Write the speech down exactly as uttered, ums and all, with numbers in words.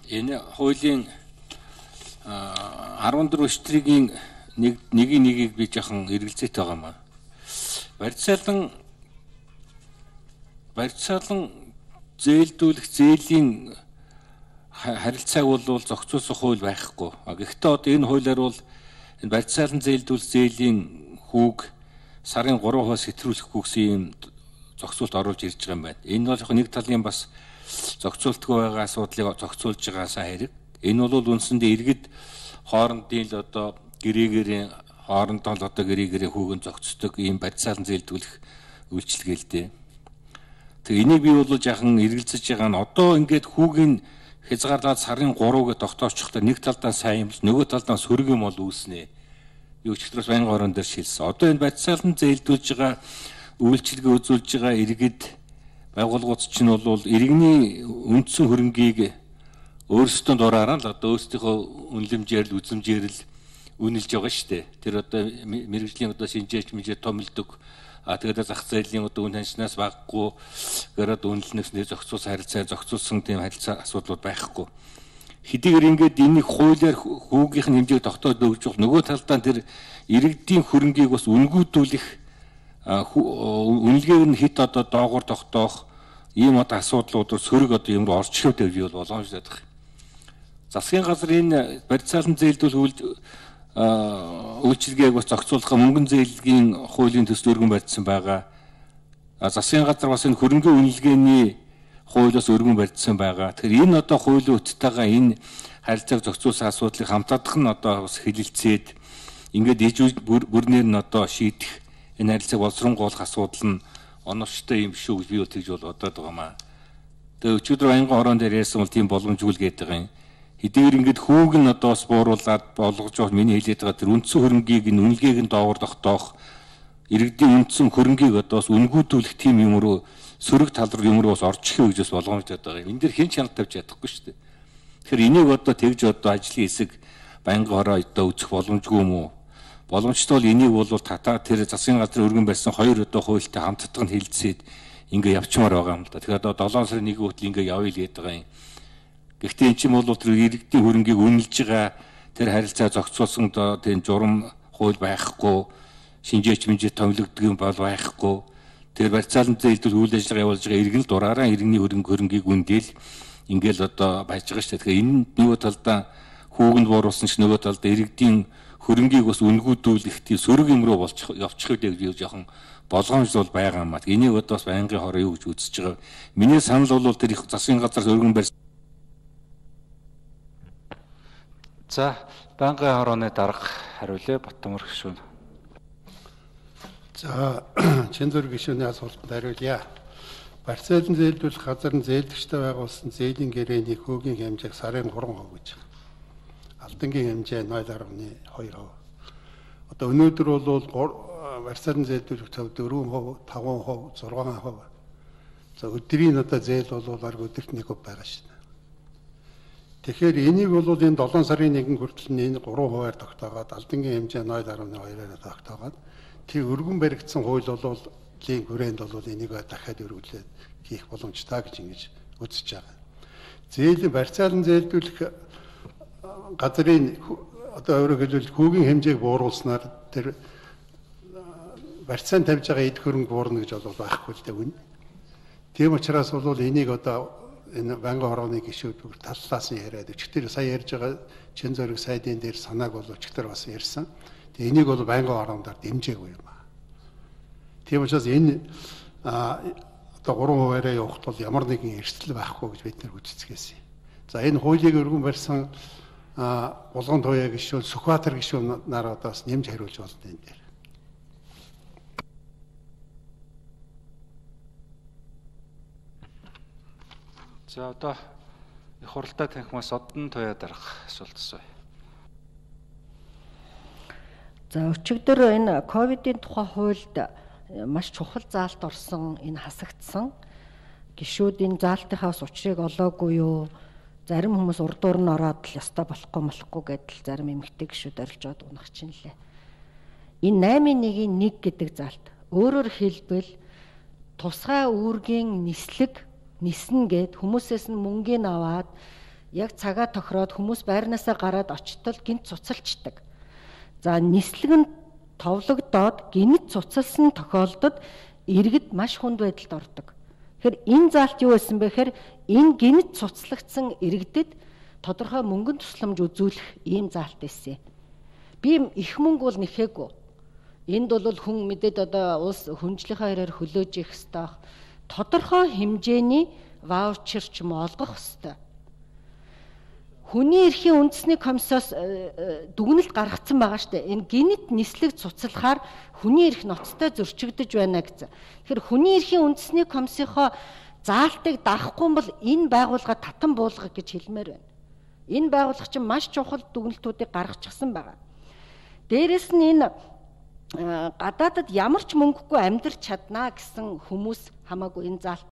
энэ хуулийн арван дөрөв штрийн нэг нэгийг нэгийг би жоохон эргэлзээтэй байгаа маа. Барьцаалан барьцаалан зээлдүүлэх зээлийн харилцааг бол зохицуулах хууль байхгүй. Гэхдээ одоо энэ хуулиар бол энэ барьцаалан зээлдүүлэх зээлийн хүүг сарын гурав хувиас хэтрүүлэхгүй гэсэн юм зохицуулт оруулж ирж байгаа юм байна. Энэ бол яг нэг талын бас зохицуултгүй байгаа асуудлыг зохицуулж байгаасаа хэрэг. Энэ бол үндсэндээ иргэд хоорондын л одоо гэрээгээр хоорондоо л одоо гэрээгээр хүүгэн зохицдог ийм барьцаалан зээлдүүлэх үйлчилгээ л дээ. Тэг энийг би бол жаахан эргэлзэж байгаа нь одоо ингээд хүүгийн хязгаарлаад сарын гурав гэж тогтоочхлоо нэг талдаа сайн юм л нөгөө талдаа сөрөг юм бол үүснэ. Би өчигдрөөс байнгын орон дээр шилсэн. Одоо энэ барьцаалан зээлдүүлж байгаа үйлчилгээ үзүүлж байгаа иргэд байгууллагууд чинь бол иргэний үндсэн хөрөнгийг өөрсдөө дураараа л одоо өөрсдийнхөө үнэлэмжээр л үзэмжээр л үнэлж байгаа шүү дээ. Тэр одоо мэрэгжлийн одоо шинжээч мэнжээ томилдог. А тэгээд зах зээлийн одоо үн ханшнаас баггүй гэрээд үнэлнэснээр зохицуулсан харилцаа зохицуулсан тийм харилцаа асуудлууд байхгүй. Хэдийгээр ингээд энийг хуулиар хүүгийнх нь хэмжээг тогтоож өгч бол нөгөө талдаа тэр иргэдийн хөрөнгийг бас үнгүүдүүлэх үнэлгээг нь хит одоо доогуур тогтоох ийм одоо асуудлууд сөрөг одоо юм руу орж ирээд байв бол боломжтой байдаг. Засгийн газар энэ барьцаалан зээлдүүлэх үйлчилгээг бас зохицуулах мөнгөн зээлгийн хуулийн төсөл өргөн барьсан байгаа. Засгийн газар бас энэ хөрөнгөний үнэлгээний хуулиас өргөн барьсан байгаа. Тэгэхээр энэ одоо хуулийн үттэйгээ энэ харилцааг зохицуулсан асуудлыг хамтаадах нь одоо бас хэлэлцээд ингээд ижил бүрнээр нь одоо шийдэх энэ харилцааг боловсронгуулах асуудал нь оновчтой юм шүү гэж би тэгж бол бодоод байгаа маа. Тэгээ өчигдөр байнгын орон дээр ярьсан бол тийм боломжгүй л гээд байгаа юм. Хэдийгээр ингээд хүүг нь одоо бас бууруулад болгож байгаа миний хэлээд байгаа тэр үндсэн хөрөнгийг нь үнэлгээг нь доогуур тогтоох иргэдийн үндсэн хөрөнгийг одоо бас үнгүүдүүлэх тийм юм руу сөрөг тал руу юм руу бас орж ихэ гэж бас боломжтой байгаа юм. Энд дэр хэн чанар тавьж чадахгүй шүү дээ. Тэгэхээр энийг одоо тэгж одоо ажлын хэсэг байнгын хороо одоо үзэх боломжгүй юм уу? Боломжтой бол энийг бол татаа тэр засгийн газрын өргөн барьсан хоёр одоо хуультай хамтдах нь хэлэлцээд ингээ явчмаар байгаа юм л да. Тэгэхээр одоо долоон сарын нэг хүртэл ингээ явъя л гээд байгаа юм. Гэхдээ эн чинь бол тэр иргэдийн хөрөнгийг үнэлж байгаа тэр харилцаа зохицуулсан одоо тийм журам хууль байхгүй, шинжээч мэнжээ томилогддог юм бол байхгүй. Тэр барьцаалан зээлдүүл үйл ажиллагаа явуулж байгаа иргэн л дураараа иргэний хөрөнгө хөрөнгийг үндээл ингээл одоо байж байгаа шүү дээ. Тэгэхээр энэ нөгөө талдаа хүүгэнд бууруулсан ч нөгөө талдаа иргэдийн хөрөнгийг бас үнгүүдүүлэх тийм сөрөг юм руу болж явчих үед гэж жоохон болгоомж бол байгаа юм аа. Энийг одоо бас байнгын хороо юу гэж үзэж байгаа. Миний санал бол тэр их засгийн газраас өргөн барьсан. За, байнгын хорооны дарга хариулъя Батмөр гишүүн. За, Чинзүр гишүүний асуултанд хариулъя. Барьцаалан зээлдүүлэх газар нь зээлдэгчтэй байгуулсан зээлийн гэрээний хүүгийн хэмжээг сарын гурван хувь гэж байна. Алдангийн хэмжээ нуль гаруй хоёр хувь. Одоо өнөөдөр бол барьцаалан зээлдүүлэх төв дөрвөн хувь, таван хувь, зургаан хувь. За өдрийн одоо зээл бол арга өдөрт нэг хувь байгаа шүү дээ. Тэгэхээр энийг бол энэ долоон сарын нэгэн хүртэл энэ гурван хувиар тогтоогоод алдангийн хэмжээ нуль гаруй хоёроор тогтоогоод тэр өргөн баригдсан хууль бол лийн хүрээнд бол энийг дахиад өргөлээд хийх боломжтой гэж ингэж үзэж байгаа. Зээлийн барьцаалан зээлдүүлэх газрын одоо өөрөөр хэлбэл хүүгийн хэмжээг бууруулснаар тэр барьцаан тавьж байгаа эд хөрөнгө буурна гэж бол байхгүй л дээ үнэ. Тийм учраас бол энийг одоо энэ байнгын хорооны гишүүд таллаас нь яриад өчигдөр сая ярьж байгаа чин зөрөг сайдын дээр санааг бол өчигдөр бас ярьсан. Тэгээ энийг бол байнгын хорооноор дэмжээгүй юм аа. Тийм учраас энэ одоо гурван хуваараа явахд бол ямар нэгэн эрсдэл байхгүй гэж бид нэр үзэцгээсэн. За энэ хуулийг өргөн барьсан Булган туяа гишүүн, Сүхбаатар гишүүн нар одоо бас нэмж хариулж болно энэ дээр. За одоо их хуралтай танхимаас Одон туяа дарга асуулт асууя. За өчигдөр энэ ковидын тухай хуульд маш чухал заалт орсон энэ хасагдсан гишүүдийн заалтынхаас учрыг олоогүй юу? Зарим хүмүүс урдуур нь ороод л ёстой болохгүй болохгүй гэдэл зарим эмэгтэй гишүүд орилжоод унах чинь лээ. Энэ наймын нэгийн нэг гэдэг заалт өөрөөр хэлбэл тусгай үүргийн нислэг ниснэ гэд хүмүүсээс нь мөнгөний аваад яг цагаа тохироод хүмүүс байрнаасаа гараад очтол гинт цуцалчдаг. За нислэг нь товлогдоод гинт цуцалсан тохиолдолд иргэд маш хүнд байдалд ордог. Тэгэхээр энэ заалт юу байсан бэ гэхээр энэ гинт цуцлагдсан иргэдэд тодорхой мөнгөнд тусламж үзүүлэх ийм заалт байсан. Би их мөнгө бол нэхээгүй. Энд бол хүн мэдээд одоо улс хүнжлийнхаа хэрээр хөлөөж их ёстой. Тодорхой хэмжээний ваучер ч юм олгох ёстой. Хүний эрхийн үндэсний комиссоос дүгнэлт гаргацсан байгаа шүү дээ. Энэ гинт нислэг цуцлахаар хүний эрх ноцтой зөрчигдөж байна гэсэн. Тэгэхээр хүний эрхийн үндэсний комиссийнхоо заалтыг даахгүй бол энэ байгууллага татан буулгах гэж хэлмээр байна. Энэ байгууллага чинь маш чухал дүгнэлтүүдийг гаргачихсан байгаа. Дээрээс нь энэ гадаадад ямар ч мөнгөгүй амьдрч чаднаа гэсэн хүмүүс хамаагүй энэ заалт